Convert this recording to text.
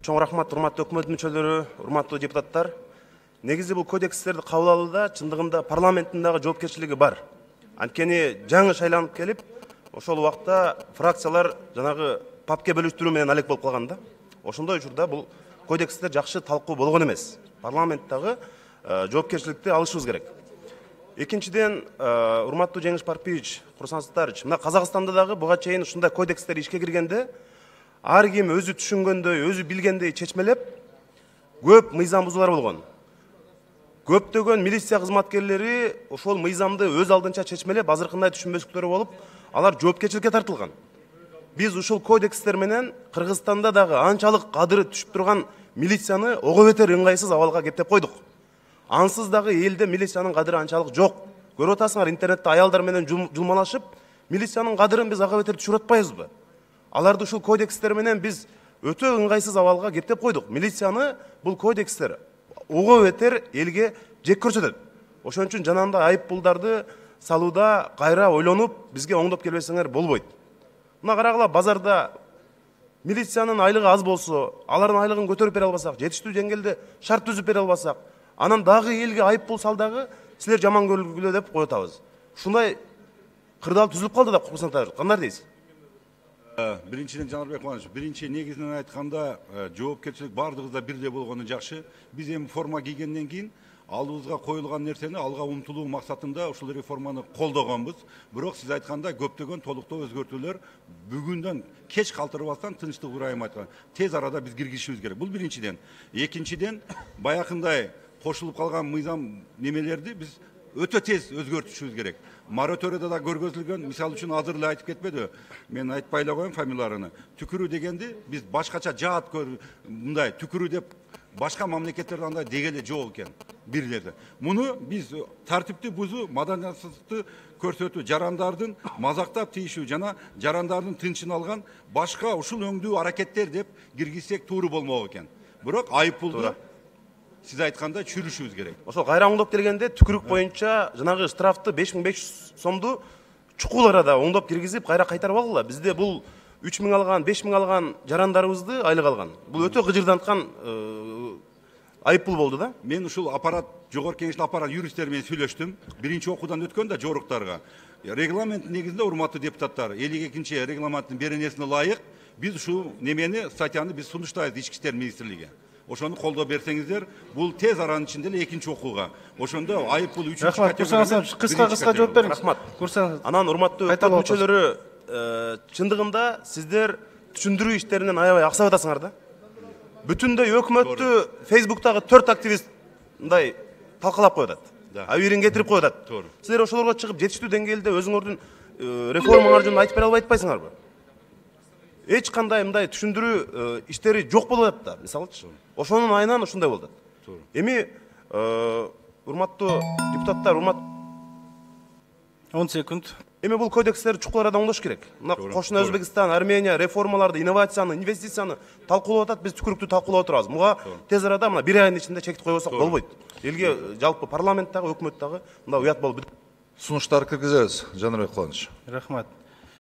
Чоң рахмат, урматтуу өкмөт мүчөлөрү, урматтуу депутаттар. Негизи бул кодекстерди кабыл алууда чындыгында парламенттин дагы жоопкерчилиги бар. Анткени жаңы шайланып келип, ошол убакта фракциялар жанагы папке бөлүштүрүү менен алек болуп калган да. Ошондой учурда бул кодекстер жакшы талкуу болгон эмес. Парламент дагы жоопкерчиликти алышыбыз керек. Экинчиден, урматтуу Жеңиш Парпиевич, Курсан Саттарович, мына Казакстанда дагы буга чейин ушундай кодекстер ишке киргенде ар ким өзү түшүнгөндөй, өзү билгендей чечмелеп, көп мыйзам бузуулар болгон. Көптөгөн милиция кызматкерлери ошол мыйзамды өз алдынча чечмелеп, азыркындай түшүнбөстүктөрү болуп, алар жоопкерчиликке тартылган. Биз ушул кодекстер менен Кыргызстанда дагы анчалык кадыры түшүп турган милицияны ого бетер ыңгайсыз абалга кептеп койдук. Ансыз дагы элде милициянын кадыры анчалык жок. Көрүп атасыңар, интернетте аялдар менен жулмалашып, милициянын кадырын биз ага бетер түшүрүп атпайбызбы? Аларды ушул кодекстер менен биз өтө ыңгайсыз абалга кептеп койдук. Милицияны бул кодекстер ого бетер элге жек көрсөтөт. Ошон үчүн жанагындай айып пулдарды салууда кайра ойлонуп, бизге оңдоп келбесеңер болбойт. Мына карагыла, базарда милициянын айлыгы аз болсо, алардын айлыгын көтөрүп бере албасак, жетиштүү деңгээлде шарт түзүп бере албасак, анан дагы элге айып пул сал дагы силер жаман көргүлө деп коюп атабыз. Ушундай кырдаал түзүлүп калды да, кандай дейсиз? Биринчиден Жанарбек Мамедович, биринчи негизинен айтканда жоопкерчилик бардыгыбызда бирдей болгону жакшы. Биз эми форма кийгенден кийин алдыбызга коюлган нерсени алга умтулуу максатында ушул реформаны колдогонбуз. Бирок сиз айткандай көптөгөн толуктоо өзгөртүүлөр бүгүндөн кеч калтырбастан тынчтык урайым айткан. Тез арада биз киргизишибиз керек. Бул биринчиден. Экинчиден, баякындай кошулуп калган мыйзам немелерди биз өтө тез өзгөртүшүбүз керек. Мораторийда да көргөзүлгөн, мисалы үчүн азыр эле айтып кетпеди, мен айтпай эле коеюн фамилияларын. Түкүрүү дегенди биз башкача жаат мындай түкүрүү деп башка мамлекеттерде андай дегеле жок экен бирлерде. Муну биз тартипти бузуу, маданияттуулукту көрсөтүү, жарандардын мазактап тийишүү жана жарандардын тынчын алган башка ушул өңдүү аракеттер деп киргизсек тууру болмок экен. Бирок айып пулду сиз айткандай чүрүшүбүз керек. Ошол кайра оңдоп келгенде түкүрүк боюнча жанагы штрафты 5500 сомду чукул арада оңдоп киргизип кайра кайтарып алгыла. Бизде бул 3000 алган, 5000 алган жарандарыбызды айлык алган. Бул өтө кыжырданткан айып пул болду да. Мен ушул аппарат, жогорку кеңештин аппарат юристтери менен сүйлөштүм. Биринчи окуудан өткөн да жоруктарга. Регламент негизинде, урматтуу депутаттар, 52-чи регламенттин беренесине ылайык биз ушул немени, статьяны биз сунуштайбыз Ички иштер министрлиги. Ошону колдоп берсеңиздер, бул тез аранын ичинде эле экинчи окууга. Ошондо айып пул 3-чү категория. Кыска жооп бериңиз. Рахмат. Анан урматтуу өкмөт мүчөлөрү, чындыгында сиздер түшүндүрүү иштеринен аябай аксап атасыңар да. Бүтүндөй өкмөттү Facebooктагы 4 активист мындай талкалап коюп атат. Абийирин кетирип коюп атат. Силер ошолорго чыгып жетиштүү деңгээлде өзүңөрдүн реформаңар жөнүндө айтып бере албай атпайсыңарбы? Эч кандай мындай түшүндүрүү иштери жок болуп атат да, мисалычы. Ошонун айынан ушундай болду. Эми урматтуу депутаттар, 10 секунд. Эми бул кодекстерди чукул арада оңдош керек. Мына кошуна Өзбекстан, Армения реформаларды, инновацияны, инвестицияны талкуулап атат, биз түкүрүктү талкуулап отурабыз. Буга тез арада мына 1 айдын ичинде чектик койбосок болбойт. Элге жалпы парламент дагы, өкмөт дагы мындай уят болуп. Сунуштар киргизебиз, Жанарбек Куланович. Рахмат.